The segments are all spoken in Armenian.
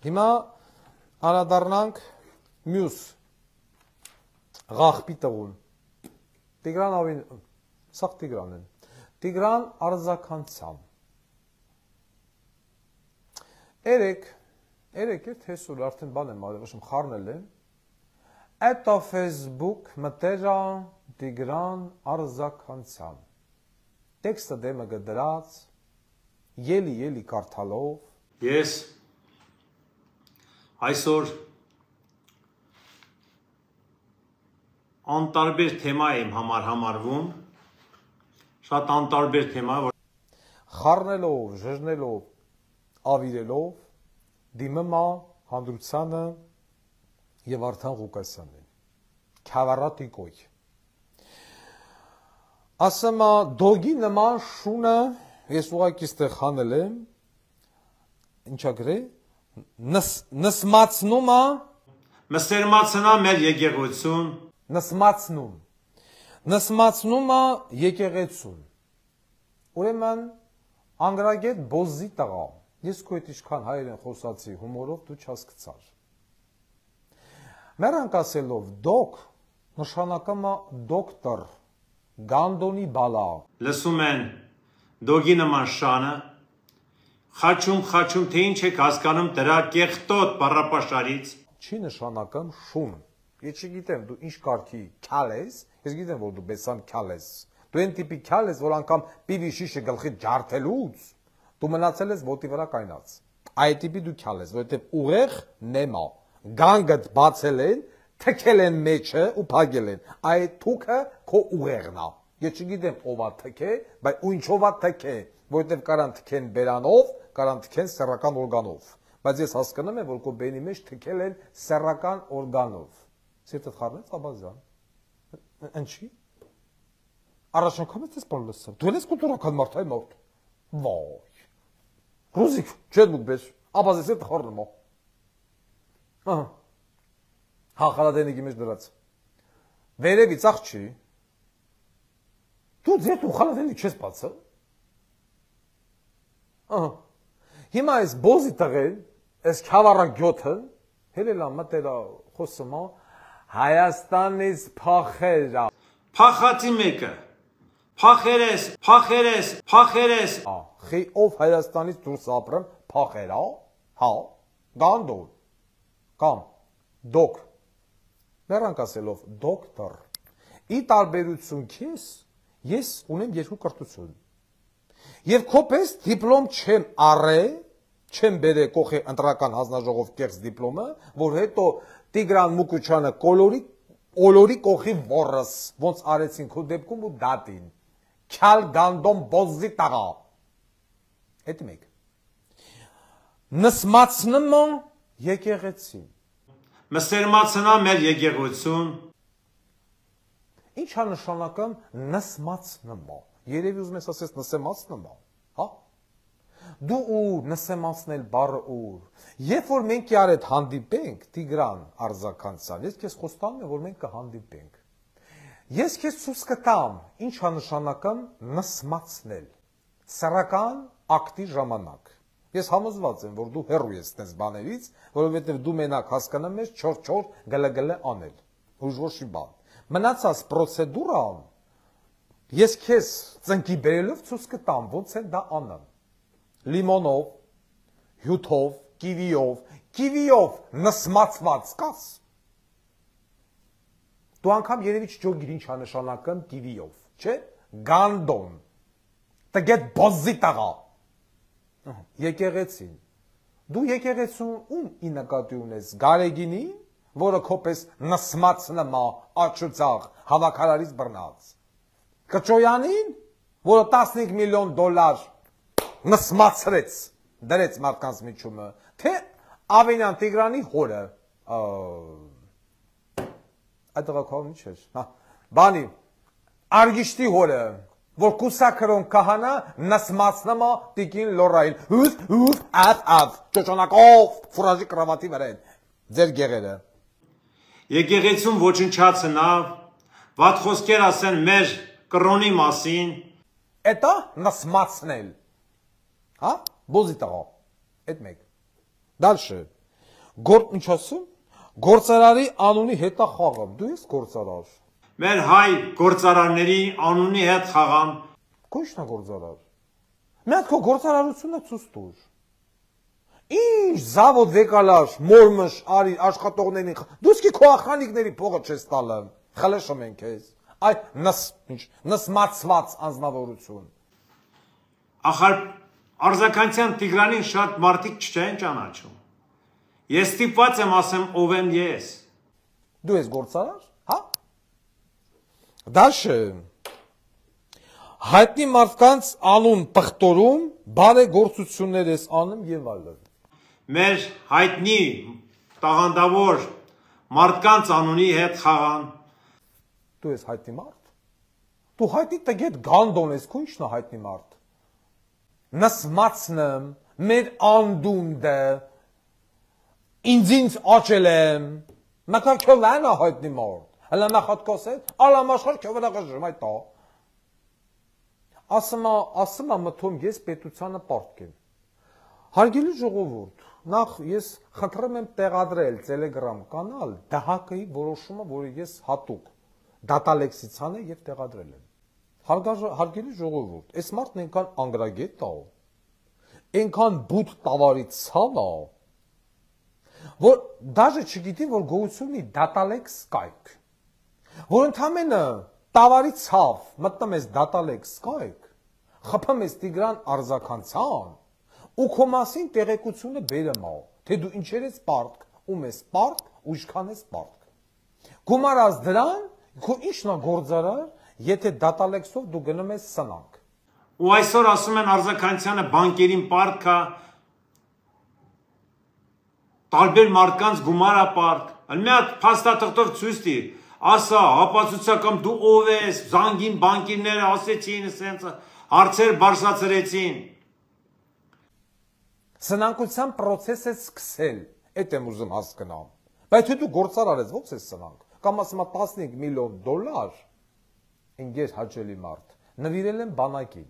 Հիմա անդրադառնանք մյուս ղախպի տղուն։ Տիգրան ավին, սաղ Տիգրան են։ Տիգրան Արձականցյան։ Երեք հեսուր արդեն բան եմ արել, խառնել եմ։ Էտա Facebook մտերա Տիգրան Արձականցյան։ Տեքստը դեմը գդրած, ելի կարդալով։ Ես այսօր անտարբեր թեմա եմ համարվում, շատ անտարբեր թեմա, խառնելով, ժժնելով, ավիրելով, դիմմա Հանդրությանը և Վարդան Ղուկասյանին, քավառատի կոյ։ Ասեմա դոգի նման շունը, ես ուղղակի ստեղ խանել եմ, ինչա գրե, նսմացնումա, մսերմացնա մեր եկեղեցուն, նսմացնումա եկեղեցուն, ուրեմն անգրագետ բոզի տղա, ես քո հետ ինչքան հայերեն խոսացի հումորով դու չհասկացար։ Մերանք ասելով դոկ նշանակամա դոկտոր, գանդոնի բալա։ Լսում են դոգի նման շանը, խաչում, թե ինչ եք հասկանում դրա կեղտոտ բառապաշարից։ Չի նշանակամ շուն։ Ես չգիտեմ դու ինչ կարգի քյալ ես, ես գիտեմ որ դու բեսան քյալ ես։ Դու այն տիպի քյալ ես, որ անգամ պիվի շիշը գլխի ջարդելուց դու մնացել ես ոտի վրա կայնած։ Այդ տիպի դու քյալ ես, որովհետև ուղեղ նեմա, գանգդ բացել են, թքել են մեջը ու փագել են։ Այդ թուքը քո ուղեղն է։ Ես չգիտեմ ով է թքե, բայց ու ինչով է թքե, որովհետև կարան թքեն բերանով, կարան թքեն սեռական օրգանով։ Բայց ես հասկանում եմ, որ քո բենի մեջ թքել են սեռական օրգանով։ Սիրտդ խառնեց Աբազյան։ Ինչի՞։ Առաջ անգամ ես բան լսել։ Դու ես կուլտուրական մարդ, այ մարդ։ Վայ։ Ռուզիկ, չէ՞ դուք բես։ Աբազը սիրտ խառնում է։ Ահա։ Հա, խալադենիքի մեջ դրած։ Վերևից աղջի։ Դու ձեր ու խալադենիք չես բացել։ Ահա։ Հիմա այս բոզի տղեն, այս քավառագյոթը, հելելա մտերա խոսումա Հայաստանից փախերա։ Փախացի մեկը։ Փախերես։ Խի ով Հայաստանից դուրս ապրեմ փախերա, հա, գանդոն, կամ դոկ, նրանք ասելով դոկտոր, ի տարբերություն քեզ, ես ունեմ երկու կրթություն, և քո պես դիպլոմ չեմ առե, չեմ բերե կողի ընտրական հանձնաժողով կեղծ դիպլոմը, որ հետո Տիգրան Մուկուչյանը օլորի կողի որս, ոնց արեցին քո դեպքում ու դատին, քյալ գանդոն բոզի տաղա, հետի մեկ, նսմացնմը եկեղեցին, մսերմացնա մեր եկեղեցուն, ինչ է նշանակում նսմացնմը, երևի ուզում ես ասես նսեմացնմը, հա, դու ուր նսեմացնել բառը ուր, երբ որ մենք իրար հետ հանդիպենք, Տիգրան Արձականցյան, ես քեզ խոստանում եմ, որ մենք կհանդիպենք, ես քեզ ցույց կտամ, ինչ է նշանակում նսմացնել, սեռական ակտի ժամանակ, ես համոզված եմ, որ դու հեռու ես տես բաներից, որովհետև դու մենակ հասկանում ես չոր գլգլ անել, ուժ ոչի բան, մնացած պրոցեդուրան, ես քեզ ծնկի բերելով ցույց կտամ, ոնց են դա անում, լիմոնով, հյութով, կիվիով նսմացված կաս, դու անգամ երևի չջոգիր ինչ է նշանակում կիվիով, չէ, գանդոն, տգետ բոզի տաղա, եկեղեցին, դու եկեղեցուն ում ի նկատի ունես, Գարեգինի, որը քոպես նսմացնմա աչուծաղ հավաքարարից բռնած, Կճոյանին, որը 15 միլիոն դոլար նսմացրեց, դրեց մարդկանց միջումը, թե Ավենյան Տիգրանի հորը, այդ աղաքարում ինչ էր, բանի, Արգիշտի հորը, որ կուսակրոն կահանա նսմացնմա տիկին լորային, ճոճանակով, ֆուրաժի կրավատի վրեն, ձեր գեղերը։ Եկեղեցուն ոչնչացնավ, վատ խոսքեր ասեն մեր կրոնի մասին։ Էտա նսմացնել, հա, բոզի տղա, էտ մեկ, դալշը, Ինչ ասում։ Գործարարի անունի հետ է խաղում։ Դու ես գործարար։ Մեր հայ գործարարների անունի հետ խաղամ։ Քո՞իշն է գործարար։ Մի հատ քո գործարարությունը ցույց տուր։ Ինչ զավոդ վեկալար, մորմշ, արի աշխատողներին։ Դու իսկի քո ախանիկների փողը չես տալը։ Խլեշը մենք ես։ Այ նսմացված անձնավորություն։ Ախար Արձականցյան Տիգրանին շատ մարդիկ չեն ճանաչում։ Ես ստիպված եմ ասեմ ով եմ ես։ Դու ես գործարար, հա? Դաշը հայտնի մարդկանց անուն պղտորում, բարեգործություններ ես անում եւ այլն։ Մեր հայտնի տաղանդավոր մարդկանց անունի հետ խաղան։ Դու ես հայտնի մարդ։ Դու հայտնի տգետ գանդոն ես, քո ի՞նչն է հայտնի մարդ։ Նսմացնեմ, մեր անդունդը, ինձ աճել եմ, մակար քովանա հայտնի մարդ։ Հələ նախատկոսել, ալամաշխար քովանա ժմայ տա։ Ասում մտում ես պետությանը պարտք եմ։ Հարգելի ժողովուրդ, նախ ես խնդրում եմ տեղադրել Telegram կանալ ԴՀԿ-ի որոշումը, որը ես հատուկ դատալեքսիցան եւ տեղադրել եմ։ Հարգելի ժողովուրդ, այս մարդն այնքան անգրագետ է, այնքան բութ տավարի ցավ է, որ դաժե չգիտի, որ գոյություն ունի դատալեքս կայք, որ ընդամենը տավարի ցավ մտնում ես դատալեքս կայք, խփում ես Տիգրան Արձականցյան ու քո մասին տեղեկությունը բերեմ, թե դու ինչեր ես պարտք, ում ես պարտք, ու ինչքան ես պարտք։ Գումարած դրան, քո ինչն է գործարար, եթե դատալեքսով դու գնում ես սնանք։ Ու այսօր ասում են Արձականցյանը բանկերին պարտք է, տարբեր մարդկանց գումար է պարտք։ Մի հատ փաստաթղթով ցույց տի, ասա, հապացուցակամ դու ով ես, զանգին բանկիրները ասեցին, ասենց հարցեր բարձրացրեցին։ Սնանկության process-ը սկսել, այդ եմ ուզում հասկանամ։ Բայց դու գործարար ես, ո՞նց ես սնանք։ Կամ ասում եմ $15 միլիոն, ինգեր հաճելի մարդ, նվիրել եմ բանակին։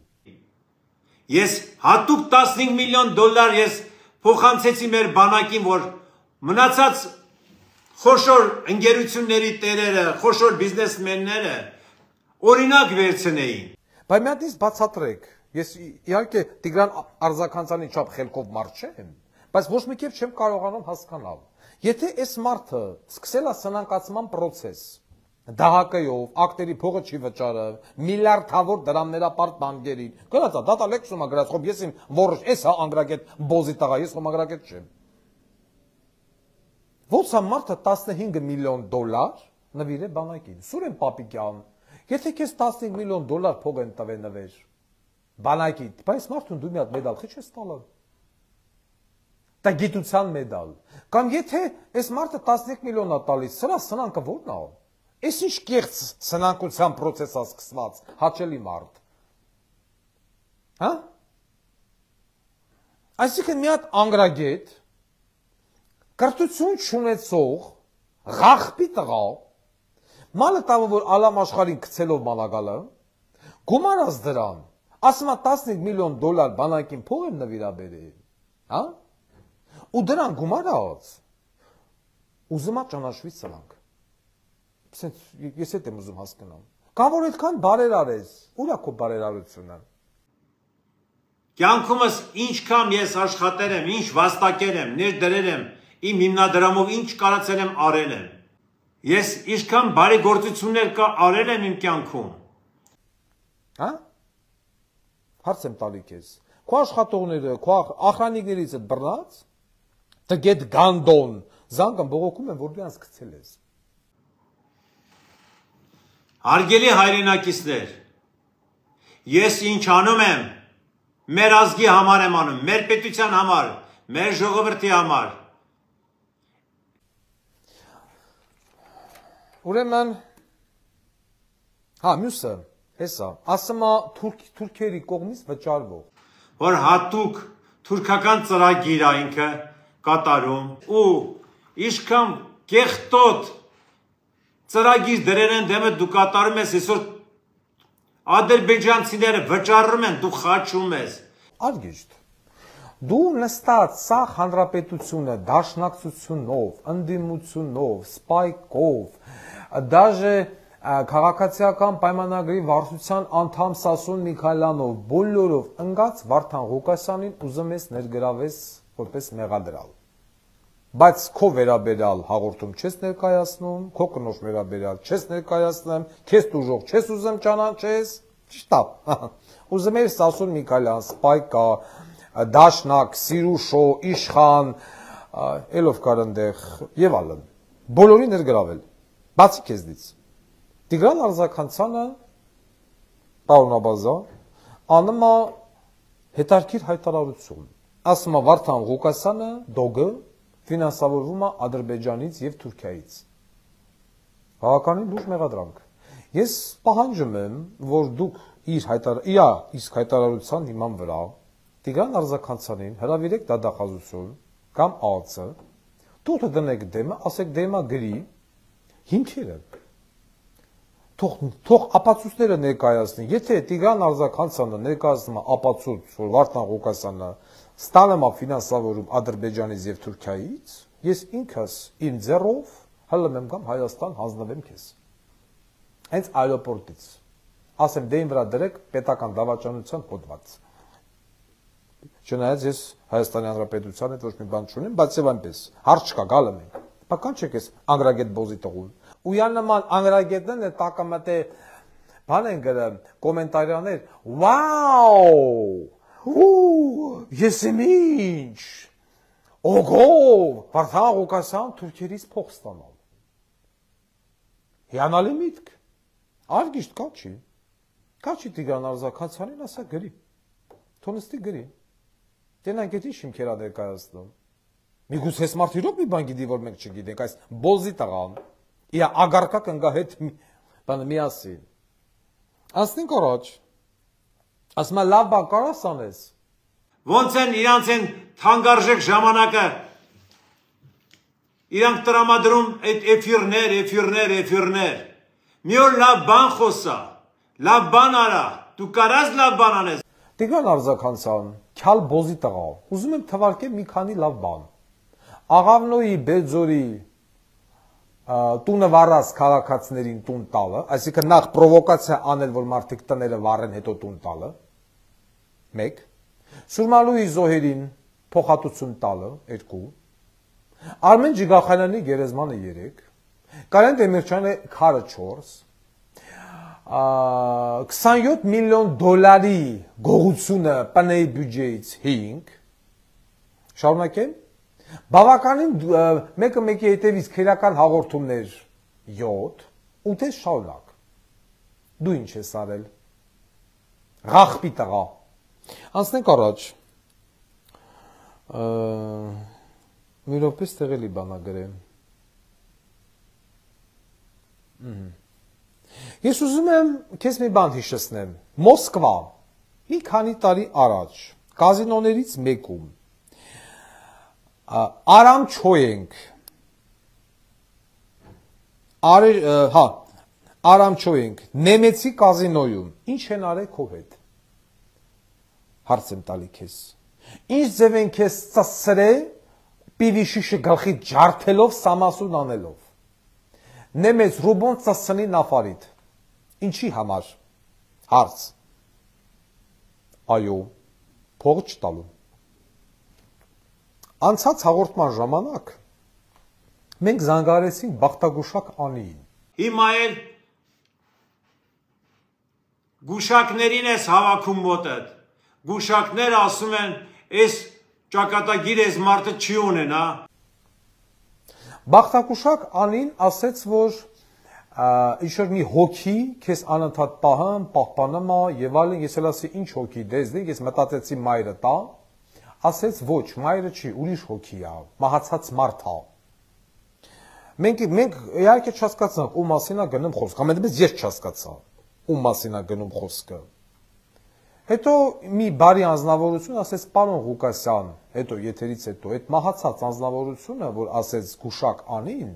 Ես հատուկ $15 միլիոն ես փոխանցեցի մեր բանակին, որ մնացած խոշոր ընկերությունների տերերը, խոշոր բիզնեսմենները օրինակ վերցնեին։ Բայց մի հատ ինձ բացատրեք, ես իհարկե Տիգրան Արձականցյանի չափ խելքով մարդ չեմ, բայց ոչ մի կերպ չեմ կարողանում հասկանալ։ Եթե այս մարդը սկսել է սնանկացման process, ԴՀԿ-ով, ակտերի փողը չի վճարը, միլիարդավոր դրամներապարտ բանկերին, գնացա դատալեքսում է գրած, խոբ ես իմ որոշ, ես հա անգրագետ բոզի տղա, ես խոմ անգրագետ չեմ։ Ո՞նց է մարդը $15 միլիոն նվիրե բանակին։ Սուրեն Պապիկյան, եթե քեզ $15 միլիոն փող են տվել նվեր բանակի, բայց մարդուն դու մի հատ մեդալ խի չես տալու։ Դա գիտության մեդալ։ Կամ եթե այս մարդը 13 միլիոն է տալիս, սրա սնանկը ո՞րն է։ Այս ինչ կեղծ սնանկության process-ա սկսված, հաճելի մարդ։ Հա? Այսինքն մի հատ անգրագետ, կրթություն չունեցող, ղախպի տղա, մալը տավը, որ ալամ աշխարհին գցելով մանագալը, գումարած դրան, ասում է $15 միլիոն բանակին փող եմ նվիրաբերել, հա? Ու դրան գումարած, ուզում է ճանաչվի սրանք։ Ես հետ եմ ուզում հասկանամ։ Կամ որ այդքան բարերար ես, ուր է քո բարերարությունը։ Կյանքումս ինչքան ես աշխատել եմ, ինչ վաստակել եմ, ներդրել եմ, իմ հիմնադրամով ինչ կարացել եմ արել եմ։ Ես ինչքան բարեգործություններ կա արել եմ իմ կյանքում։ Հա? Հարց եմ տալի քեզ։ Քո աշխատողները, քո ախրանիկներից հետ բռնած, տգետ գանդոն, զանգը բողոքում են, որ դու անց գցել ես։ Հարգելի հայրենակիցներ, ես ինչ անում եմ, մեր ազգի համար եմ անում, մեր պետության համար, մեր ժողովրդի համար։ Ուրեմն, հա, մյուսը, հեսա, ասում է թուրքերի կողմից վճարվող։ Որ հատուկ թուրքական ծրագիր է ինքը կատարում ու իշքան կեղտոտ ծրագիր դրել են դեմը դու կատարում ես, այսօր ադրբեջանցիները վճարում են, դու խաչում ես։ Արգիշտ, Դու նստած սա հանրապետությունը դաշնակցությունով, ընդդիմությունով, սպայկով, դաժե քաղաքացիական պայմանագրի վարչության անդամ Սասուն Միքայելյանով, բոլորով ընկած Վարդան Ղուկասյանին ուզում ես ներգրավես որպես մեղադրյալ։ Բայց քո վերաբերյալ հաղորդում չես ներկայացնում, քո կնոջ վերաբերյալ չես ներկայացնում, քեզ դուժող չես ուզում ճանաչես, ճիշտ է։ Ուզում ես Սասուն Միքայելյան, Սպայկա, Դաշնակ, Սիրուշո, Իշխան, ելով կար այնտեղ եւ այլն։ Բոլորի ներգրավել։ Բացի քեզնից։ Տիգրան Արզականցյանը, պարոն Աբազյան, անում է հետարքիր հայտարարություն։ Ասում է Վարդան Ղուկասյանը դոգը ֆինանսավորվում է Ադրբեջանից եւ Թուրքիայից։ Բավականին լուրջ մեղադրանք։ Ես պահանջում եմ, որ դուք իր հայտարարության հիման վրա Տիգրան Արզականցյանին հրավիրեք դատախազություն կամ ԱԱՑ, թող դնեք դեմը, ասեք դեմը գրի հիմքերը։ Թող ապացույցները ներկայացնի։ Եթե Տիգրան Արզականցյանը ներկայացնում է ապացույց, որ Վարդան Ղուկասյանը ստանում է ֆինանսավորում Ադրբեջանից եւ Թուրքիայից, ես ինքս իմ ձեռով հալում եմ կամ Հայաստան հանձնվեմ քեզ։ Հենց այրոպորտից։ Ասեմ դեին վրա դրեք պետական դավաճանության հոդված։ Չնայած ես Հայաստանի Հանրապետության հետ ոչ մի բան չունեմ, բայց եւ այնպես հարց չկա, գալը մենք։ Բական չեք ես անգրագետ բոզի տղուն։ Ույան նման անգրագետներն է տակամատե բան են գրում կոմենտարիաներ, վաու, ես եմ ինչ, օգո, Վարդան Ղուկասյան Թուրքիայից փող ստանալ։ Հիանալի միտք, արգիշտ կա չի Տիգրան Արզականցյանին ասա գրի, թոնստի գրի, տենանք էտ ինչ հիմքեր ա ներկայացնում, միգուց հես մարդ իրոք մի բան գիտի, որ մենք չգիտենք, այս բոզի տղան, իա ագարկա կնգա հետ բանը միասին, ասնենք առաջ, ասմա լավ բան կարաս անես, ոնց են իրանց են թանգարժեք ժամանակը, իրանք տրամադրում այդ էֆիրներ, մի օր լավ բան խոսա, լավ բան արա, դու կարաս լավ բան անես։ Տիգրան Արզականցյան, քյալ բոզի տղա, ուզում եմ թվարկեմ մի քանի լավ բան, Աղավնոյի Բերձորի տունը վառած քաղաքացիներին տուն տալը, այսինքն նախ պրովոկացիա անել, որ մարդիկ տները վառեն, հետո տուն տալը, 1, Սուրմալուի Զոհերին փոխհատուցում տալը, 2, Արմեն Ջիգախանյանի գերեզմանը 3, Կարեն Դեմիրճյանի քարը 4, 27 միլիոն դոլարի գողությունը ՊՆ-ի բյուջեից 5, շարունակեմ, բավականին մեկը մեկի հետևից քերական հաղորդումներ 7, 8 շարունակ, դու ինչ ես արել, ղախպի տղա, անցնենք առաջ, մի րոպե ստեղելի բանա գրեմ, ես ուզում եմ քեզ մի բան հիշեցնեմ, Մոսկվա, մի քանի տարի առաջ, կազինոներից մեկում, Արամչոյենք, նեմեցի կազինոյում, ինչ են արել քո հետ, հարց եմ տալի քեզ, ինչ ձև են քեզ ծսրե, պիվի շիշը գլխի ջարդելով, սամասուն անելով, նեմեց ռուբոն ծսնի նավարիդ, ինչի համար, հարց, այո, փող չտալու, անցած հաղորդման ժամանակ մենք զանգարեցինք Բախտագուշակ Անիին։ Հիմա էլ գուշակներին ես հավաքում մոտդ։ Գուշակները ասում են, այս ճակատագիր այս մարդը չի ունեն, հա։ Բախտագուշակ Անին ասեց, որ ինչ-որ մի հոգի քեզ անընդհատ պահպանում է եւ այլն, ես էլ ասի ինչ հոգի դեզնի, ես մտածեցի մայրը տա, ասեց ոչ, մայրը չի, ուրիշ հոգի է, մահացած մարդ է։ Մենք իհարկե չհասկացանք, ում մասին է գնում խոսքը, ամենից ես չհասկացա, ում մասին է գնում խոսքը։ Հետո մի բարի անձնավորություն ասեց պարոն Ղուկասյան, հետո եթերից հետո, այդ մահացած անձնավորությունը, որ ասեց Գուշակ Անին,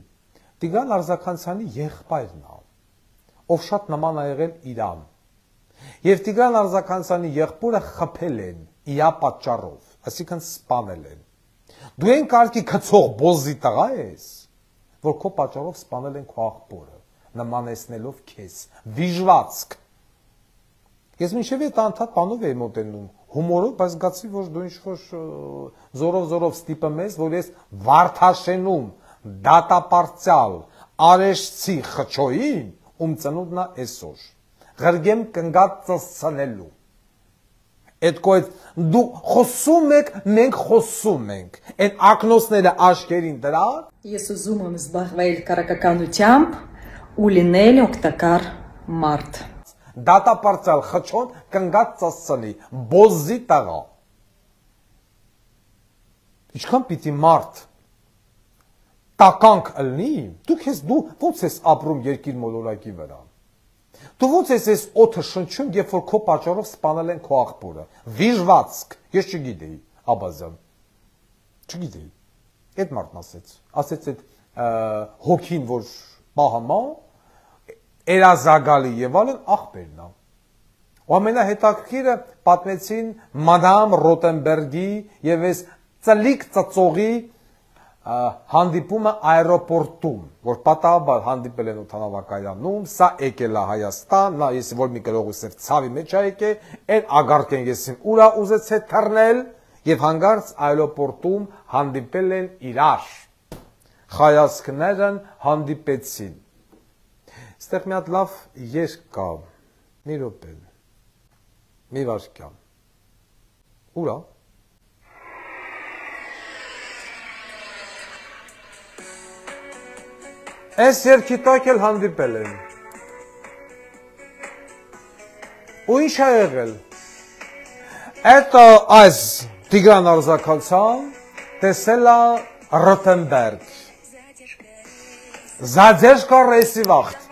Տիգրան Արզականցյանի եղբայրն է, ով շատ նման է եղել իրան։ Եվ Տիգրան Արզականցյանի եղբորը խփել են իրա պատճառով։ այսինքն սպանել են։ Դու են կարգի քցող բոզի տղա ես, որ քո պատճառով սպանել են քո աղբորը, նմանեցնելով քեզ, վիժվածք։ Ես մինչև այդ անդադ բանով էի մոտենում, հումորով, բայց զգացի, որ դու ինչ-որ զորով ստիպում ես, որ ես Վարդաշենում դատապարտյալ արեշցի խչոյին, ում ծնունդն է այսօր, ղրգեմ կնգատ ծսցնելու։ Այդ կոյտ դու խոսում եք, մենք խոսում ենք, այդ ակնոցները աշկերին դրա։ Ես ուզում եմ զբաղվել կարակականությամբ ու լինել օգտակար մարդ։ Դատապարտյալ խչոն կնգատ ծսցնի, բոզի տղա։ Ինչքան պիտի մարդ տականք ըլնի, դու ոնց ես ապրում երկիր մոլորակի վրա։ Դու ոնց ես օդը շնչում, երբ որ քո պատճառով սպանել են քո աղբորը։ Վիժվածք, ես չգիտեի, Աբազյան։ Չգիտեի։ Այդ մարդն ասեց այդ հոգին, որ պահամա, երազագալի եւ այլն աղբերն է։ Ու ամենահետաքրքիրը պատմեցին մադամ Ռոտենբերգի եւ այս ծլիկ ծծողի հանդիպումը аэропортում, որ պատահաբար հանդիպել են օդանավակայանում, սա եկել է Հայաստան, նա ես որ մի գրողուսեր ցավի մեջ է եկել, այն ագարկ են եսին ուրա ուզեցե թռնել եւ հանգարց аэропортում հանդիպել են իրար։ Հայացքներն հանդիպեցին։ Ստեղ մի հատ լավ երգ կա, մի րոպե, մի վարքյան։ Ուրա։ Այս երգի տակ էլ հանդիպել են։ Ու ինչ է եղել։ Это այս Տիգրան Արզաքալցյան տեսել է Ռոտենբերգ։ Задержка рейси вахт։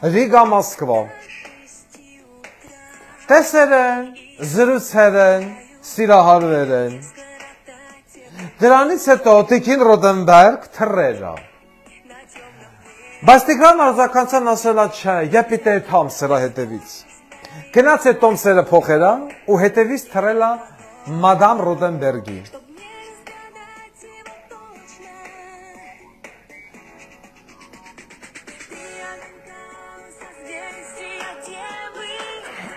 Riga Moskva։ Տեսել են, զրուցել են, սիրահարվել են։ Դրանից հետո Տիկին Ռոտենբերգ թռել է։ Բայց Տիգրան Արզաքալցյանն ասել է չէ, я պիտի թամ սրա հետևից։ Գնաց է տոմսերը փոխել է ու հետևից թռել է մադամ Ռոտենբերգի։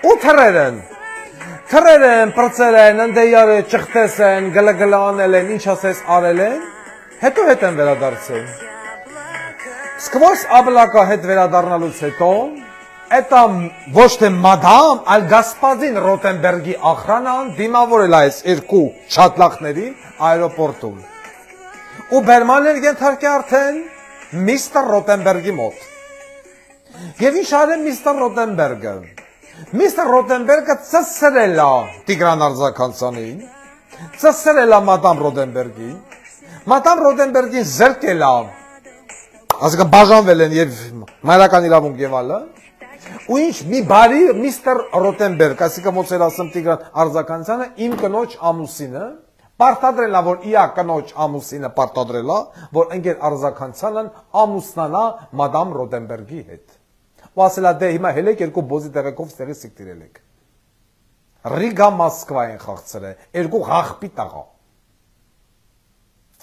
Ու թռել են, պրծել են, ընդեյար ճղտես են, գլգլանել են, ինչ ասես արել են, հետո հետ են վերադարձել։ Սկվոս աբլակա հետ վերադառնալուց հետո, էտա ոչ թե մադամ, այլ գասպազին Ռոտենբերգի ախրանան դիմավորել այս երկու շատլախներին aeroportum։ Ու բերմաններ ենթարկե արդեն միստր Ռոտենբերգի մոտ։ Եվ ինչ արել միստր Ռոտենբերգը։ Միստր Ռոտենբերգը ծսրել է Տիգրան Արզաքալցյանին, ծսրել է մադամ Ռոտենբերգին, մադամ Ռոտենբերգին զրկել է, ասիկա բաժանվել են եւ մայրական իրավունք եւ այլն, ու ինչ մի բարի միստր Ռոտենբերգ, ասիկա ոնց էր ասում Տիգրան Արզաքալցյանը, իմ կնոջ ամուսինը պարտադրել է, որ իա կնոջ ամուսինը պարտադրել է, որ ընկեր Արզաքալցյանն ամուսնանա մադամ Ռոտենբերգի հետ։ Ու ասել է դե հիմա հելեք երկու բոզի տեղեկով ստեղի սիկտիրել եք։ Ռիգա Մոսկվա են խաղցրել, երկու աղբի տղա։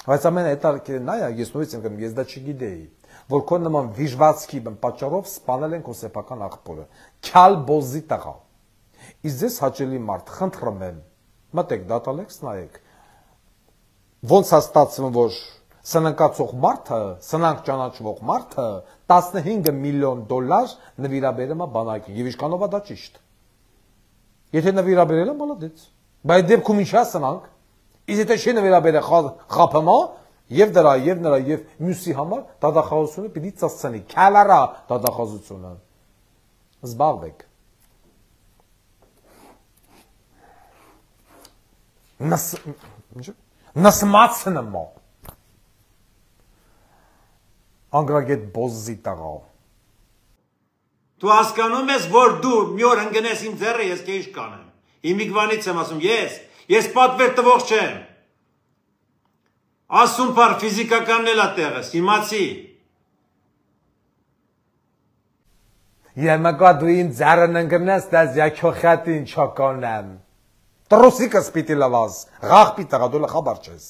Բայց ամեն հետաքրքիրը նա է, ես նույնիսկ եմ գնում, ես դա չգիտեի, որ քո նման վիժվածքի պատճառով սպանել են քո սեփական աղբորը։ Քյալ բոզի տղա։ Իսկ ձեզ հաճելի մարդ, խնդրում եմ, մտեք դատալեքս նայեք։ Ոնց է ստացվում, որ սնանկացող մարդը, սնանկ ճանաչվող մարդը 15 միլիոն դոլար նվիրաբերում է բանակին, եւ ինչքանով է դա ճիշտ։ Եթե նվիրաբերել է, մալադեց։ Բայց դեպքում ինչ է սնանկ, իսկ եթե չի նվիրաբերել խափմա, եւ դրա, եւ նրա, եւ մյուսի համար դատախազությունը պիտի ծածկի, քալարա դատախազությունը։ Զբաղվեք։ Նասմացնը մո։ Անգրագետ բոզի տղա։ Դու հասկանում ես, որ դու մի օր ընկնես իմ ձեռը, ես քեզ կանեմ։ Իմիգվանից եմ ասում, ես պատվեր տվող չեմ։ Ասում բար ֆիզիկականն էլ է տեղս, իմացի։ Եմակա դու իմ ձեռն ընկնես, դες я քո խատին չկանեմ։ Տրոսիկս պիտի լվաս, ղախպի տղա դու լխաբար չես։